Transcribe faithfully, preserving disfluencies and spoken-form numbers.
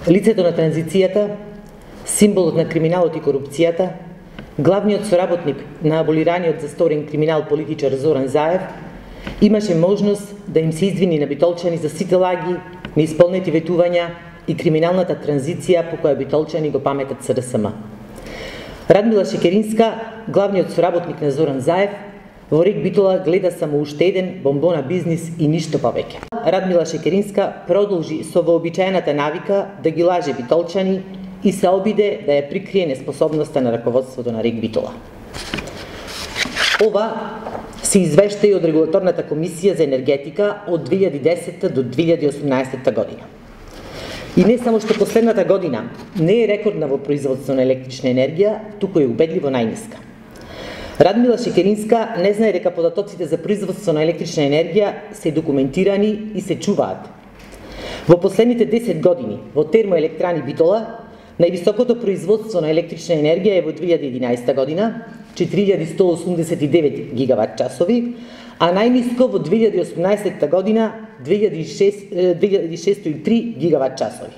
лицето на транзицијата, символот на криминалот и корупцијата, главниот соработник на аболираниот засторен криминал политичар Зоран Заев, имаше можност да им се извини на битолчани за сите лаги, неисполнети ветувања и криминалната транзиција по која битолчани го паметат СДСМ. Радмила Шекеринска, главниот соработник на Зоран Заев, во Рек Битола гледа само уште еден бомбона бизнис и ништо повеќе. Радмила Шекеринска продолжи со вообичаената навика да ги лаже битолчани и се обиде да ја прикрие неспособноста на раководството на Рек Битола. Ова се извешта и од Регулаторната комисија за енергетика од две илјади и десета до две илјади и осумнаесета година. И не само што последната година не е рекордна во производство на електрична енергија, туку е убедливо најниска. Радмила Шекеринска не знае дека податоците за производство на електрична енергија се документирани и се чуваат. Во последните десет години во Термоелектрани Битола највисокото производство на електрична енергија е во две илјади и единаесета година, четири илјади сто осумдесет и девет гигават часови, а најниско во две илјади и осумнаесета година две илјади и шестоста и три гигават часови.